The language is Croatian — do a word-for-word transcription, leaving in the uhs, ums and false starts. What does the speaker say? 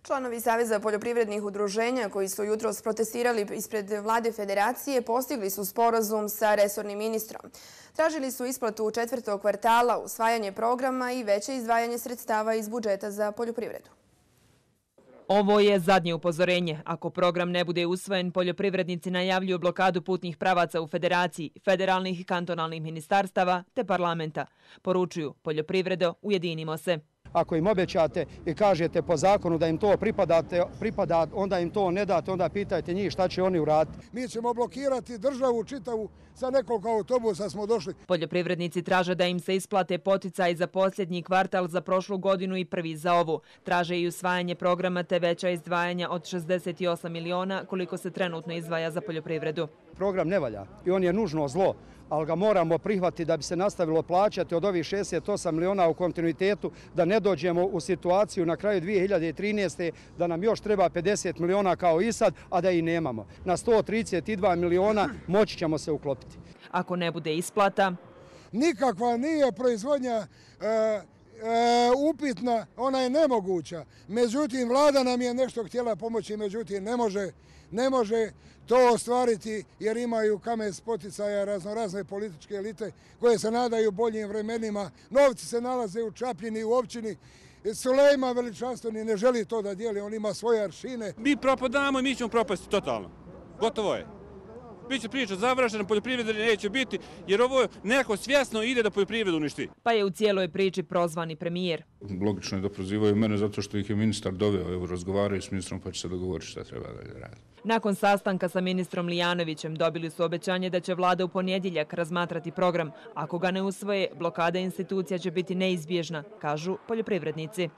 Članovi Saveza poljoprivrednih udruženja koji su jutros protestirali ispred vlade Federacije postigli su sporazum sa resornim ministrom. Tražili su isplatu četvrtog kvartala, usvajanje programa i veće izdvajanje sredstava iz budžeta za poljoprivredu. Ovo je zadnje upozorenje. Ako program ne bude usvojen, poljoprivrednici najavljuju blokadu putnih pravaca u Federaciji, federalnih i kantonalnih ministarstava te parlamenta. Poručuju: poljoprivredo, ujedinimo se. Ako im obećate i kažete po zakonu da im to pripada, onda im to ne date, onda pitajte njih šta će oni uraditi. Mi ćemo blokirati državu čitavu, sa nekoliko autobusa smo došli. Poljoprivrednici traže da im se isplate poticaj za posljednji kvartal za prošlu godinu i prvi za ovu. Traže i usvajanje programa te veća izdvajanja od šezdeset osam miliona koliko se trenutno izdvaja za poljoprivredu. Program ne valja i on je nužno zlo, ali ga moramo prihvatiti da bi se nastavilo plaćati od ovih šezdeset osam miliona u kontinuitetu, da ne dođemo u situaciju na kraju dvije hiljade trinaeste. da nam još treba pedeset miliona kao i sad, a da i nemamo. Na sto trideset dva miliona moći ćemo se uklopiti. Ako ne bude isplata? Nikakva nije proizvodnja e, E, upitna, ona je nemoguća. Međutim, vlada nam je nešto htjela pomoći, međutim, ne može, ne može to ostvariti jer imaju kamen spoticaja raznorazne političke elite koje se nadaju boljim vremenima. Novci se nalaze u Čapljini, u općini. Sulejman veličanstveni ne želi to da dijeli, on ima svoje aršine. Mi propadamo i mi ćemo propasti totalno. Gotovo je. Biće priča završena, poljoprivrede neće biti, jer ovo neko svjesno ide da poljoprivredu uništi. Pa je u cijeloj priči prozvani premijer. Logično je da prozivaju mene zato što ih je ministar doveo, evo razgovaraju s ministrom pa će se dogovoriti šta treba da radi. Nakon sastanka sa ministrom Lijanovićem dobili su obećanje da će vlada u ponedjeljak razmatrati program. Ako ga ne usvoje, blokada institucija će biti neizbježna, kažu poljoprivrednici.